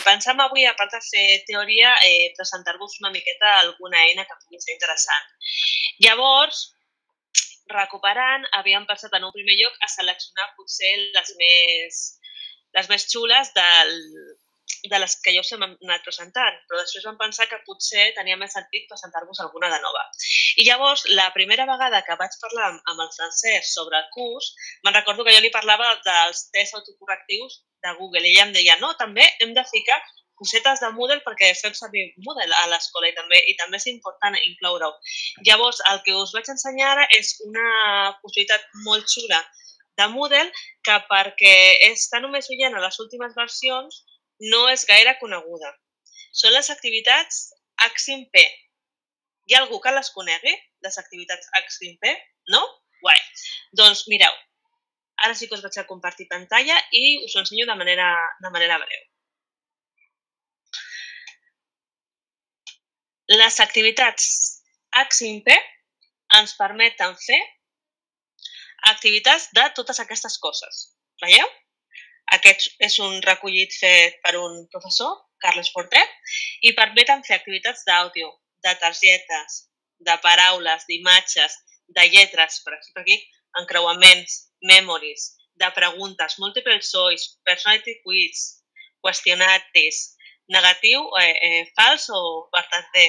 pensem avui, a part de fer teoria, presentar-vos una miqueta alguna eina que pugui ser interessant. Llavors, recuperant, havíem pensat en un primer lloc a seleccionar potser les més xules de les que ja us hem anat presentant, però després vam pensar que potser tenia més sentit presentar-vos alguna de nova. I llavors, la primera vegada que vaig parlar amb el Francesc sobre el curs, me'n recordo que jo li parlava dels tests autocorrectius de Google i ella em deia, no, també hem de ficar cosetes de Moodle perquè fem servir Moodle a l'escola i també és important incloure-ho. Llavors, el que us vaig ensenyar ara és una possibilitat molt xula de Moodle que perquè està només veient a les últimes versions no és gaire coneguda. Són les activitats H5P. Hi ha algú que les conegui, les activitats H5P? No? Guai. Doncs mireu, ara sí que us vaig a compartir pantalla i us ho ensenyo de manera breu. Les activitats H5P ens permeten fer activitats de totes aquestes coses. Veieu? Aquest és un recollit fet per un professor, Carles Portet, i permeten fer activitats d'àudio, de targetes, de paraules, d'imatges, de lletres, per exemple aquí, encreuaments, memories, de preguntes, multiple choice, personality quiz, qüestionaris, negatiu, fals o verdader,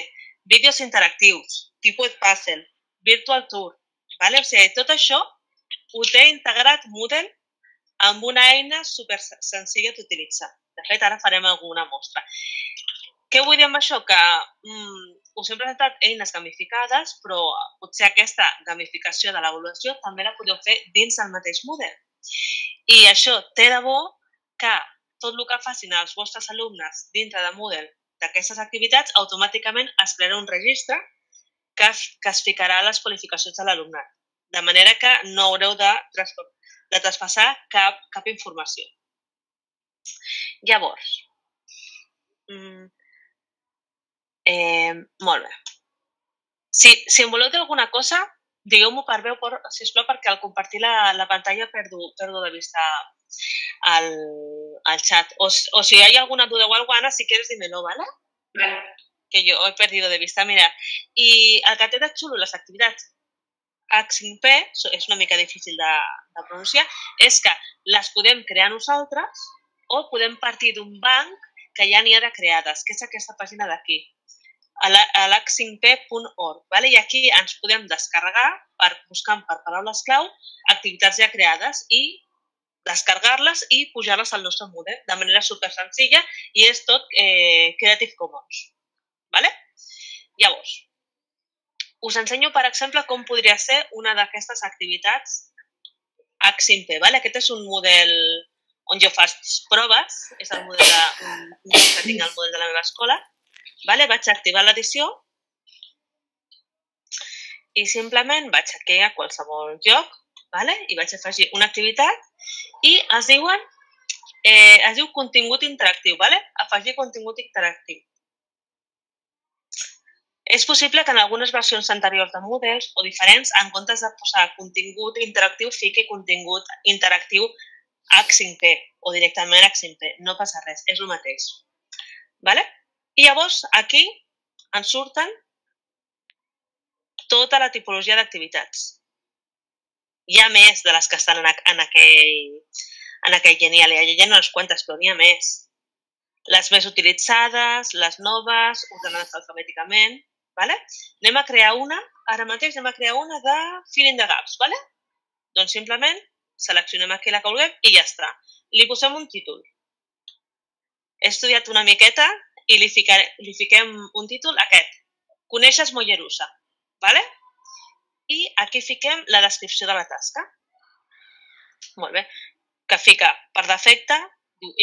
vídeos interactius, tipus puzzle, virtual tour, vale? O sigui, tot això ho té integrat Moodle amb una eina super senzilla d'utilitzar. De fet, ara farem alguna mostra. Què vull dir amb això? Que us hem presentat eines gamificades, però potser aquesta gamificació de l'avaluació també la podeu fer dins del mateix Moodle. I això té de bo que tot el que facin els vostres alumnes dintre de Moodle d'aquestes activitats, automàticament es crearà un registre que es ficarà a les qualificacions de l'alumnat. De manera que no haureu de traspassar cap informació. Llavors, molt bé. Si em voleu dir alguna cosa, digueu-m'ho per veu, sisplau, perquè al compartir la pantalla perdo de vista al chat. O si hay alguna duda o algo, Ana, si quieres dímelo, ¿vale? Vale. Que yo he perdido de vista. Mira, i el que té de xulo les activitats H5P, és una mica difícil de pronunciar, és que les podem crear nosaltres o podem partir d'un banc que ja n'hi ha de creades, que és aquesta pàgina d'aquí, a l'h5p.org. I aquí ens podem descarregar, buscant per paraules clau, activitats ja creades i descarregar-les i pujar-les al nostre Moodle de manera super senzilla i és tot Creative Commons. Llavors, us ensenyo, per exemple, com podria ser una d'aquestes activitats H5P. Aquest és un model on jo faig proves, és el model que tinc al model de la meva escola. Vaig activar l'edició i simplement vaig aquí a qualsevol lloc i vaig afegir una activitat i es diu contingut interactiu. Afegir contingut interactiu. És possible que en algunes versions anteriors de Moodle o diferents, en comptes de posar contingut interactiu, fiqui contingut interactiu H5P o directament H5P. No passa res, és el mateix. I llavors aquí ens surten tota la tipologia d'activitats. Hi ha més de les que estan en aquell genial. Hi ha unes quantes, però n'hi ha més. Les més utilitzades, les noves, ordenades alfabèticament. Anem a crear una, ara mateix anem a crear una de Filling the Gaps. Doncs simplement seleccionem aquí la que vulguem i ja està. Li posem un títol. He estudiat una miqueta i li fiquem un títol aquest. Coneixes Mollerussa. I aquí fiquem la descripció de la tasca. Molt bé. Que fica per defecte,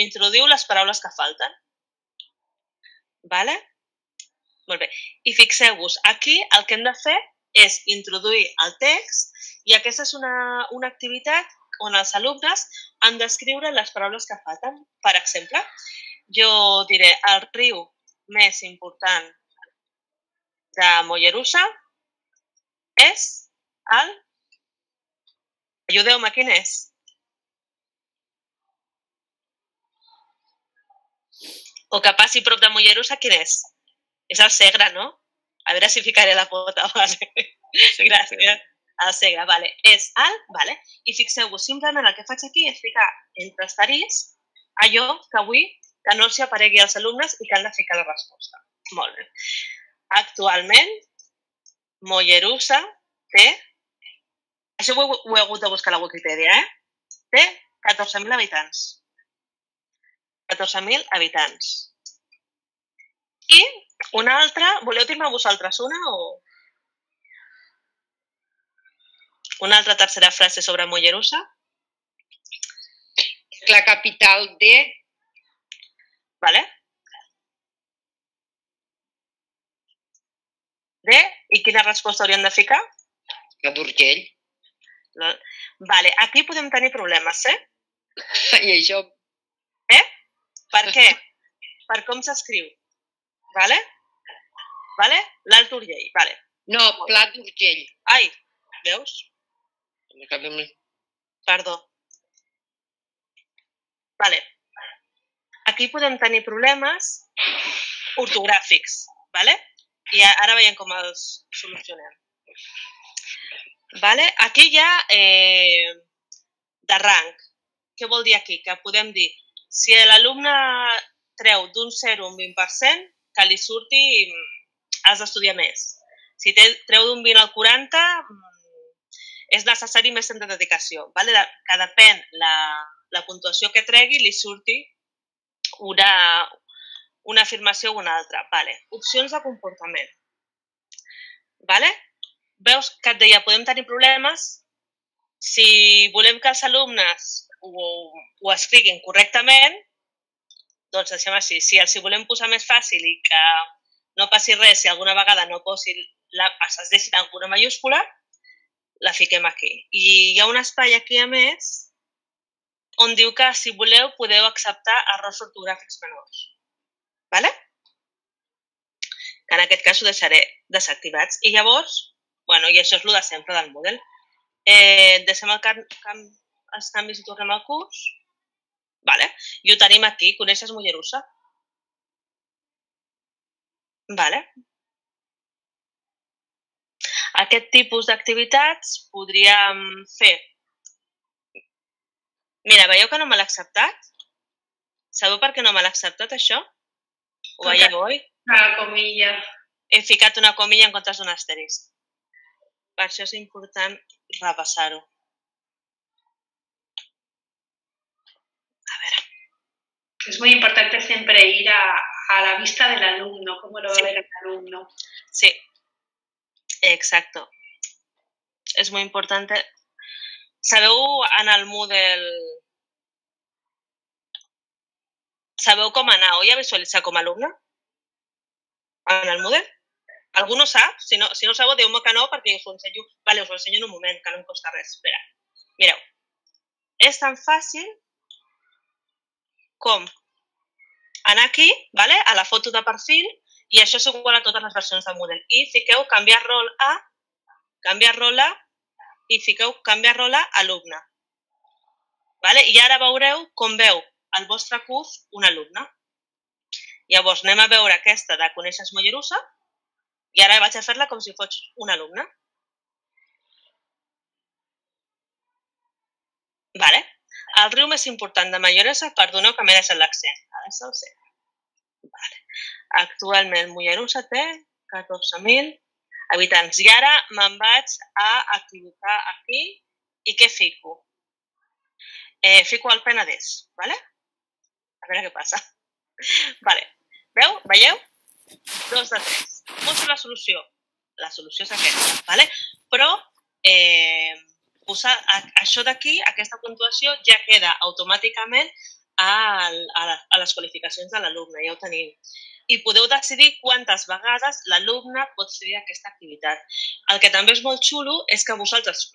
introduïu les paraules que falten. Molt bé. I fixeu-vos, aquí el que hem de fer és introduir el text i aquesta és una activitat on els alumnes han d'escriure les paraules que falten. Per exemple, jo diré el riu més important de Mollerussa és el... Ajudeu-me, quin és? O que passi prop de Mollerussa, quin és? És el Segre, no? A veure si ficaré la pota. Vale. Gràcies. El Segre, vale. És alt, vale. I fixeu-vos, simplement el que faig aquí és ficar entre asteriscs allò que vull que no els aparegui als alumnes i que han de ficar la resposta. Molt bé. Actualment, Mollerussa té, això ho he hagut de buscar a la Wikipedia, té 14.000 habitants. 14.000 habitants. I una altra, voleu dir-me vosaltres una o... Una altra tercera frase sobre Mollerussa? La capital de... Vale. De, i quina resposta hauríem de ficar? La d'Urgell. Vale, aquí podem tenir problemes, I això... Per què? Per com s'escriu. Vale? Vale? L'Alt Urgell, vale. No, Plat d'Urgell. Ai, veus? Perdó. Vale. Aquí podem tenir problemes ortogràfics, vale? I ara veiem com els solucionem. Vale? Aquí hi ha de rang. Què vol dir aquí? Que podem dir, si l'alumne treu d'un 0 a un 20%, que li surti, has d'estudiar més. Si treu d'un 20 al 40, és necessari més temps de dedicació. Vale? Que depèn la puntuació que tregui, li surti una afirmació o una altra. Vale. Opcions de comportament. Vale? Veus que et deia, podem tenir problemes si volem que els alumnes ho escriguin correctament, doncs deixem així. Si els volem posar més fàcil i que no passi res, si alguna vegada no posi es deixi alguna mayúscula, la fiquem aquí. I hi ha un espai aquí, a més, on diu que si voleu podeu acceptar errors ortogràfics menors. Vale? Que en aquest cas ho deixaré desactivats. I llavors, bueno, i això és el de sempre del Moodle. Deixem els canvis i tornem al curs. Vale. I ho tenim aquí. Coneixes Mollerussa? Vale. Aquest tipus d'activitats podríem fer. Mira, veieu que no me l'ha acceptat? Sabeu per què no me l'ha acceptat, això? Ho veieu, oi? Una comilla. He ficat una comilla en comptes d'un asterisc. Per això és important repassar-ho. A ver. Es muy importante siempre ir a la vista del alumno, cómo lo va a ver el alumno. Sí, exacto. Es muy importante. Sabeu en el Moodle... Sabeu com anar, oi, a visualitzar com a alumne? En el Moodle? Algú no sap? Si no sabeu, diu-me que no, perquè us ho ensenyo. Vale, us ho ensenyo en un moment, que no em costa res. Espera. Mireu. És tan fàcil com anar aquí, vale, a la foto de perfil, i això és igual a totes les versions del Moodle. I fiqueu canviar rol a, i fiqueu canviar rol a alumne. Vale? I ara veureu com veu el vostre curs un alumne. Llavors anem a veure aquesta de Coneixes Mollerussa i ara vaig a fer-la com si fos un alumne. Vale. El riu més important de Mollerussa, perdoneu que m'he deixat l'accent. Ara és el C. Vale. Actualment Mollerussa té 14.000 habitants. I ara me'n vaig a equivocar aquí. I què fico? Fico el Penedès. Vale? A veure què passa. Vale. Veieu? 2 de 3. Poso la solució. La solució és aquesta. Vale? Però posar això d'aquí, aquesta puntuació, ja queda automàticament a les qualificacions de l'alumne. Ja ho tenim. I podeu decidir quantes vegades l'alumne pot fer aquesta activitat. El que també és molt xulo és que vosaltres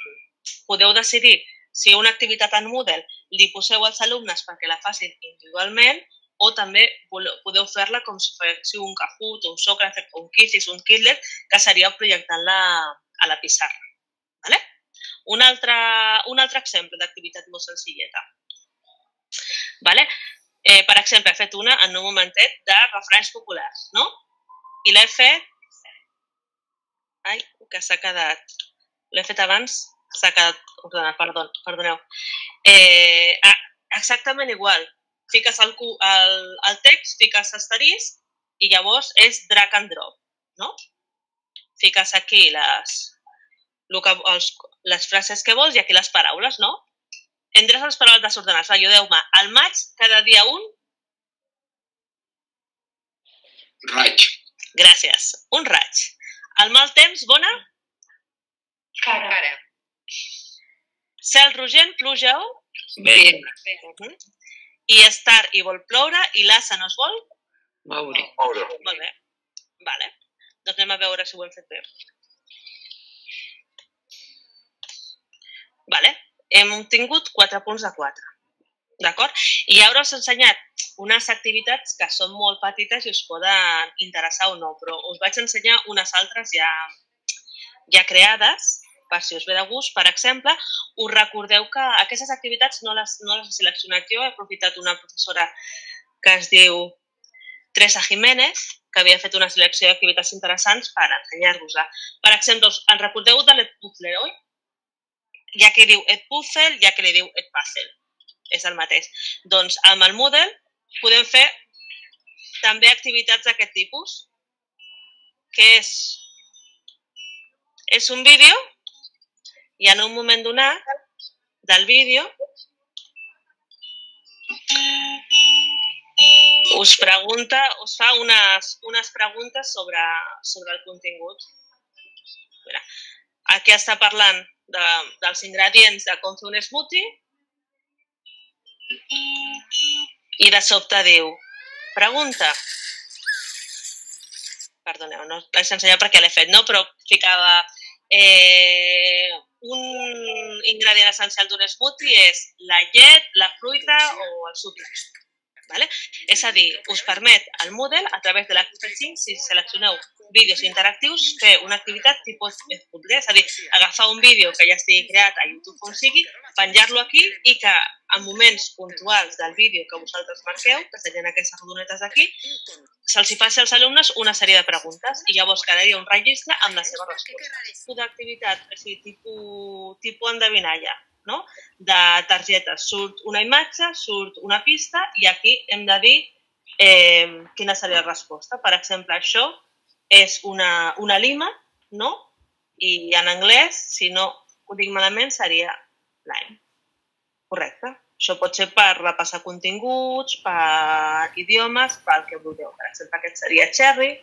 podeu decidir si una activitat en Moodle li poseu als alumnes perquè la facin individualment o també podeu fer-la com si fos un Kahoot, un Socrates, un Quizzes, un Quizlet, que seria projectant-la a la pissarra. Vale? Un altre exemple d'activitat molt senzilleta. Vale? Per exemple, he fet una en un momentet de refranys populars, no? I l'he fet... Ai, que s'ha quedat... L'he fet abans, s'ha quedat ordenat, perdoneu. Exactament igual. Fiques el text, fiques asterisc i llavors és drag and drop, no? Fiques aquí les frases que vols i aquí les paraules, no? Entres les paraules desordenades. Ajudeu-me. Al maig, cada dia un... Raig. Gràcies. Un raig. Al mal temps, bona? Cara. Cel rogent, pluja o? Vent. I és tard i vol ploure i l'assa no es vol? Moure. Molt bé. Vale. Doncs anem a veure si ho hem fet bé. Vale. Hem obtingut 4 punts de 4. D'acord? I ara us he ensenyat unes activitats que són molt petites i us poden interessar o no, però us vaig ensenyar unes altres ja creades, per si us ve de gust. Per exemple, us recordeu que aquestes activitats no les he seleccionat jo, he aprofitat una professora que es diu Teresa Jiménez, que havia fet una selecció d'activitats interessants per ensenyar-vos-la. Per exemple, en recordeu de l'Edpuzzle, oi? Hi ha qui diu Edpuzzle, hi ha qui li diu Edpuzzle. És el mateix. Doncs amb el Moodle podem fer també activitats d'aquest tipus, que és un vídeo i en un moment donat del vídeo us fa unes preguntes sobre el contingut. Aquí està parlant dels ingredients de com fer un smoothie i de sobte diu, pregunta, perdoneu, no l'he ensenyat perquè l'he fet, no? Però ficava un ingredient essencial d'un smoothie és la llet, la fruita o el sucre. Vale? És a dir, us permet el Moodle, a través de l'Expressing, si seleccioneu vídeos interactius, fer una activitat tipus Edpuzzle, és a dir, agafar un vídeo que ja estigui creat a YouTube on sigui, penjar-lo aquí i que en moments puntuals del vídeo que vosaltres marqueu, que serien aquestes rodonetes d'aquí, se'ls faci als alumnes una sèrie de preguntes i llavors quedaria un registre amb la seva resposta. Una activitat, o sigui, tipus endevinalla, no? De targetes. Surt una imatge, surt una pista i aquí hem de dir quina seria la resposta. Per exemple, això és una lima, no? I en anglès, si no ho dic malament, seria lime. Correcte. Això pot ser per repassar continguts, per idiomes, pel que vulgueu. Per exemple, aquest seria cherry,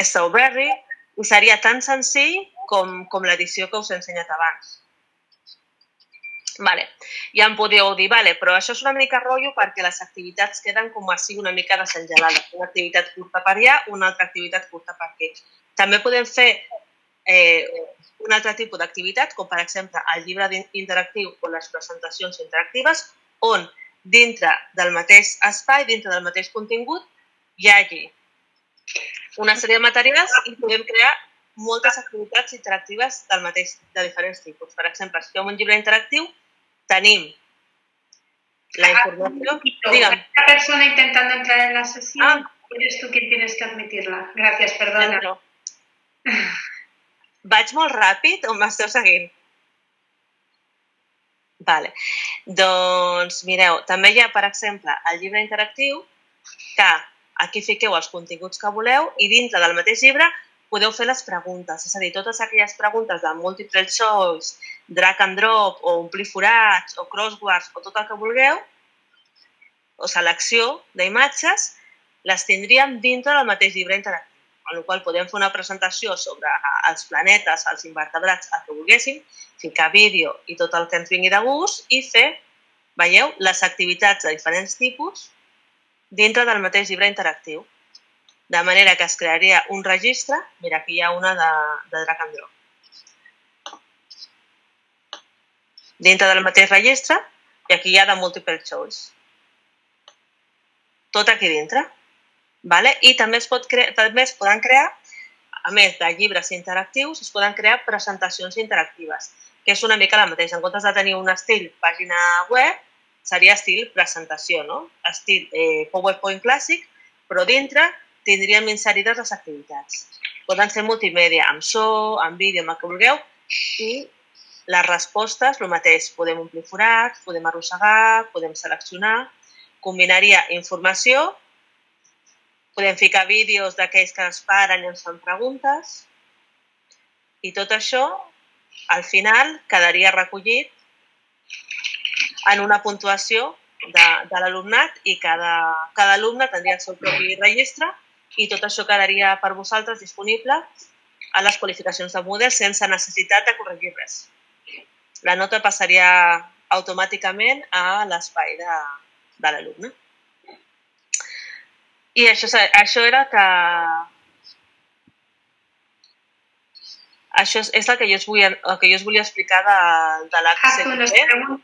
strawberry, i seria tan senzill com l'edició que us he ensenyat abans. Vale. Ja em podeu dir, vale, però això és una mica rotllo perquè les activitats queden com així una mica desengelades. Una activitat curta per allà, una altra activitat curta per aquí. També podem fer un altre tipus d'activitat, com per exemple el llibre interactiu o les presentacions interactives, on dintre del mateix espai, dintre del mateix contingut, hi hagi una sèrie de materials i podem crear moltes activitats interactives de diferents tipus. Per exemple, si fem un llibre interactiu, tenim la información. Dígame. Una persona intentando entrar en la sesión, eres tú quien tienes que admitirla. Gràcies, perdona. No. Vaig molt ràpid o m'esteu seguint? Vale. Doncs mireu, també hi ha, per exemple, el llibre interactiu, que aquí fiqueu els continguts que voleu i dintre del mateix llibre podeu fer les preguntes. És a dir, totes aquelles preguntes de multiple choice, drag and drop, o omplir forats, o crosswords, o tot el que vulgueu, o selecció d'imatges, les tindríem dintre del mateix llibre interactiu. En el qual podem fer una presentació sobre els planetes, els invertebrats, el que volguéssim, ficar vídeo i tot el que ens vingui de gust i fer, veieu, les activitats de diferents tipus dintre del mateix llibre interactiu. De manera que es crearia un registre, mira, aquí hi ha una de drag and drop. Dintre del mateix registre, i aquí hi ha de multiple choice. Tot aquí dintre. I també es poden crear, a més de llibres interactius, es poden crear presentacions interactives, que és una mica la mateixa. En comptes de tenir un estil pàgina web, seria estil presentació, no? Estil PowerPoint clàssic, però dintre tindríem inserides les activitats. Poden ser multimèdia, amb so, amb vídeo, amb el que vulgueu, i les respostes, el mateix. Podem omplir forats, podem arrossegar, podem seleccionar, combinaria informació, podem ficar vídeos d'aquells que es paren i ens fan preguntes, i tot això, al final, quedaria recollit en una puntuació de l'alumnat i cada alumne tindria el seu propi registre i tot això quedaria per vosaltres disponible a les qualificacions de Moodle sense necessitat de corregir res. La nota passaria automàticament a l'espai de l'alumne. I això era que... Això és el que jo us volia explicar de l'ACCP.